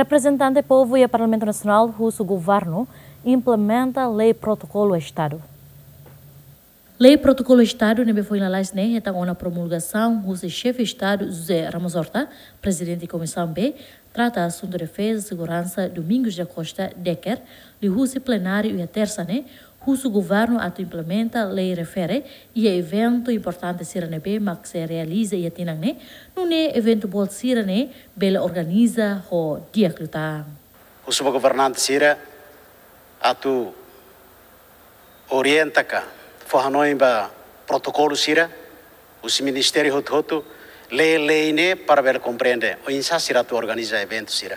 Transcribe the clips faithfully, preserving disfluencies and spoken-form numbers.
Reprezentante povu iha Parlamentu Nasionál husu governu implementa lei protokolu Estadu. Lei protokolu Estadu ne'ebé foin lalais ne'e hetan ona promulgasaun husi Xefe Estadu José Ramos Horta, Prezidente Komisaun B trata asuntu defeza seguransa Domingos da Costa Decker, liuhusi plenáriu iha tersa ne'e, husu governu atu implementa lei refere iha eventu importante sira ne'ebé mak sei realiza iha tinan ne'e, nune'e eventu boot sira ne'e bele organiza ho di'ak liután. Husu ba governante sira atu orienta ka fó hanoin ba protokolu sira husi ministériu hotu-hotu, lee lei ne'e para bele komprende oinsá sira atu organiza eventu sira.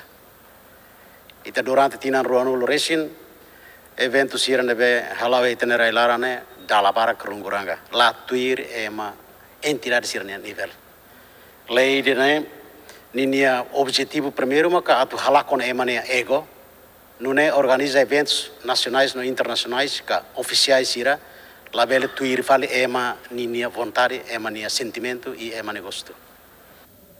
Ita durante tinan ruanulu resin, eventu sira ne'ebé hala'o iha ita-nia rai-laran ne'e dala barak runguranga, la tuir ema entidade sira-nia nivel. Lei ida-ne'e ninia objetivu primeiru maka atu halakon ema nia ego, nune'e organiza eventus nasionais no internasionais ka ofisiais sira labele tuir fali ema ninia vontade, ema nia sentimentu i ema nia gostu.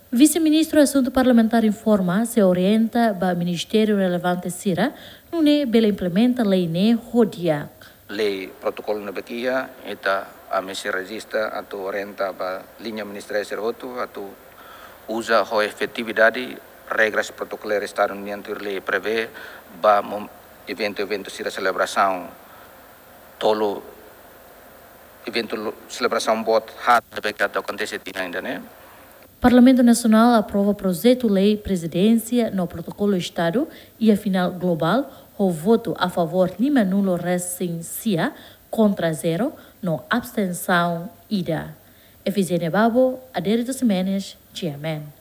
Vise-Ministru Asuntu Parlamentár informa sei orienta ba ministériu relevante sira, nune'e bele implementa lei ne'e ho di'ak. Lei protokolu ne'ebé iha, ita, ami sei rejista atu orienta ba liña ministériu sira hotu atu uza ho efetividade regras protokolu Estadu nian tuir lei prevee ba mom-, eventu-eventu sira selebrasaun tolu, eventu lo-, selebrasaun boot haat ne'ebé atu akontese tinan ida-ne'e. Parlamentu Nasionál aprova projetu lei Prezidénsia no Protokolu Estadu iha final globál ho votu a favór limanulu resin sia, kontra zero no abstensaun ida. Efigénia Babo, Adérito Ximenes, G M N.